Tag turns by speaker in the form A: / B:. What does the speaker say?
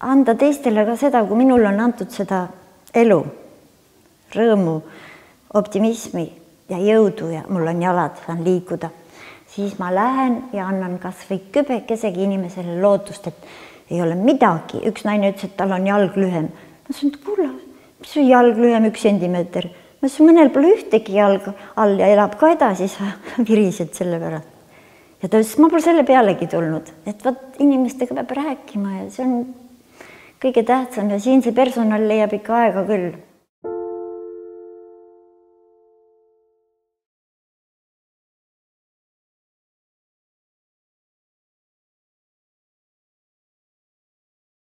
A: anda teistele ka seda, kui minul on antud seda elu, rõõmu, optimismi ja jõudu ja mul on jalad, saan liikuda, siis ma lähen ja annan kas või kübekesegi inimesele lootust, et ei ole midagi. Üks naine ütles, et tal on jalg lühem. Ma ütlesin, et kuule, mis on jalg lühem 1 sentimeeter? Ma ütlesin, mõnel pole ühtegi jalg all ja elab ka edasi, sa virised selle pärast. Ja ta ütles, ma pole selle pealegi tulnud, et vaat inimestega peab rääkima ja see on kõige tähtsam ja siin see personal leiab ikka aega küll.